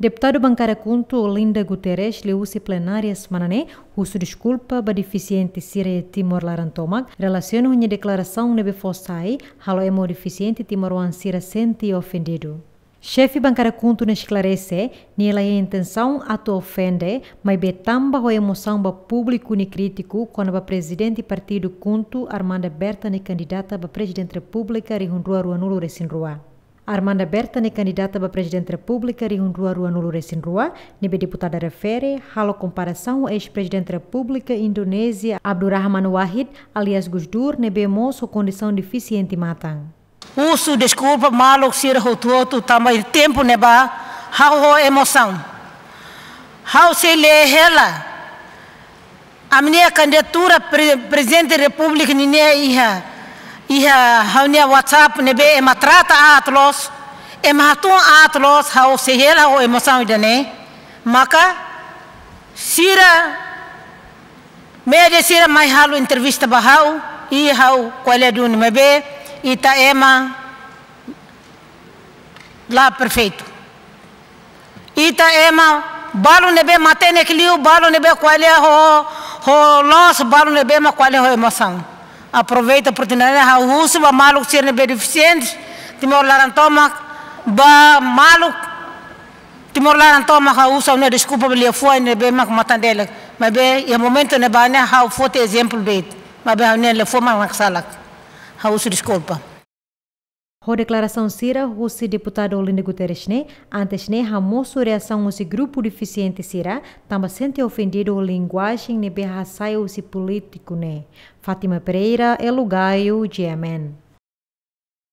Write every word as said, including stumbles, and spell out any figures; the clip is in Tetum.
Deputadu Bankada KHUNTO Olinda Guterres liuhusi plenária semana ne'e husu deskulpa ba defisiente sira iha Timor laran tomak, relasiona ho nia deklarasaun ne'ebé fó sai, halo ema defisiente timoroan sira sente ofendidu. Xefe Bankada KHUNTO ne'e esklarese, nia laiha intensaun atu ofende, maibé tanba ho emosaun ba públiku nia krítiku kona-ba Prezidente Partidu KHUNTO, Armanda Berta nia kandidata ba Prezidente Repúblika rihun rua ruanulu resin rua. Armanda Berta nia kandidata ba Prezidente Repúblika rihun rua ruanulu resin rua, ne'ebé deputada refere, halo komparasaun ho eis-Prezidente Repúblika Indonézia, Abdurrahman Wahid, alias Gus Dur, ne'ebé mós ho kondisaun defisiente matan. Husu deskulpa maluk sira hotu-hotu tanba tempu ne'ebá ha'u ho emosaun. Ha'u sei lee hela ami-nia kandidatura pre-, Prezidente Repúblika nian iha, iha ha'u-nia WhatsApp ne'ebé ema trata aat loos, ema hatún aat loos, ha'u sei hela ho emosaun ida-ne'e. Maka sira média sira mai halo entrevista ba ha'u, i ha'u ko'alia duni, maibé ita ema la perfeitu. Ita ema balu ne'ebé matenek liu, balu ne'ebé ko'alia ho, ho loos, balu ne'ebé mak ko'alia ho emosaun. Aproveita oportunidade ha'u husu ba maluk sira ne'ebé defisiente Timor laran tomak, ba maluk Timor laran tomak, ha'u husu ha'u-nia deskulpa ba liafuan ne'ebé mak matan-delek. Maibé iha momentu ne'ebá ne'e ha'u foti ezemplu de'it. Maibé ha'u-nia liafuan mak naksalak. Ha'u husu deskulpa. Ho deklarasaun sira husi deputadu Olinda Guterres ne'e, antes ne'e hamosu reasaun husi grupu defisiente sira, tanba sente ofendidu ho linguajen ne'ebé hasai husi polítiku ne'e. Fátima Pereira, Elo Gaio, G M N.